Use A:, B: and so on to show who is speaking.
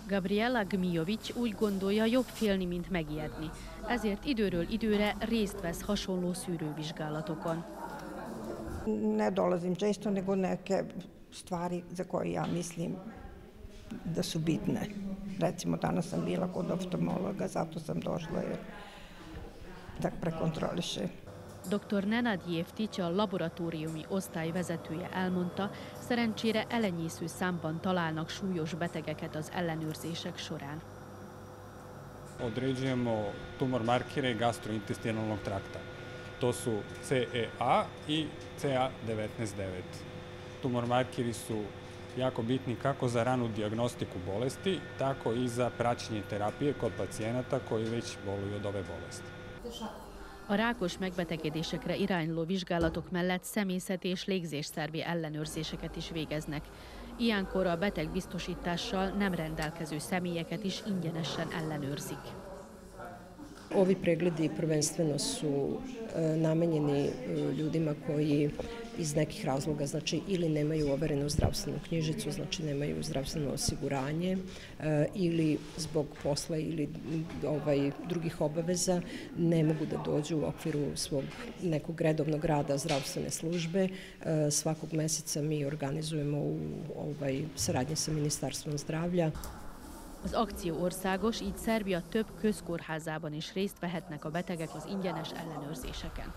A: Gabriela Gmijović úgy gondolja, jobb félni, mint megijedni. Ezért időről időre részt vesz hasonló szűrővizsgálatokon.
B: Ne dolazim često, nego neke stvari za koje ja mislim da su bitne. Recimo, danas sam bila kod oftalmologa, zato sam došla da prekontroliše.
A: Dr. Nenad Jeftics, a laboratóriumi osztály vezetője elmondta, szerencsére elenyésző számban találnak súlyos betegeket az ellenőrzések során.
C: Određujemo tumor markere gastrointestinalnog trakta. To su CEA i CA19-9. Tumor markeri su jako bitni kako za ranu dijagnostiku bolesti, tako i za praćenje terapije kod pacijenata koji već boluju od ove bolesti.
A: A rákos megbetegedésekre irányuló vizsgálatok mellett személyzet és légzésszervi ellenőrzéseket is végeznek. Ilyenkor a betegbiztosítással nem rendelkező személyeket is ingyenesen ellenőrzik.
D: Ovi pregledi prvenstveno su namenjeni ljudima koji iz nekih razloga, znači ili nemaju overenu zdravstvenu knjižicu, znači nemaju zdravstveno osiguranje ili zbog posla ili drugih obaveza ne mogu da dođu u okviru svog nekog redovnog rada zdravstvene službe. Svakog meseca mi organizujemo u saradnyi sa Ministarstvom zdravlja.
A: Az akció országos, így Szerbia több közkórházában is részt vehetnek a betegek az ingyenes ellenőrzéseken.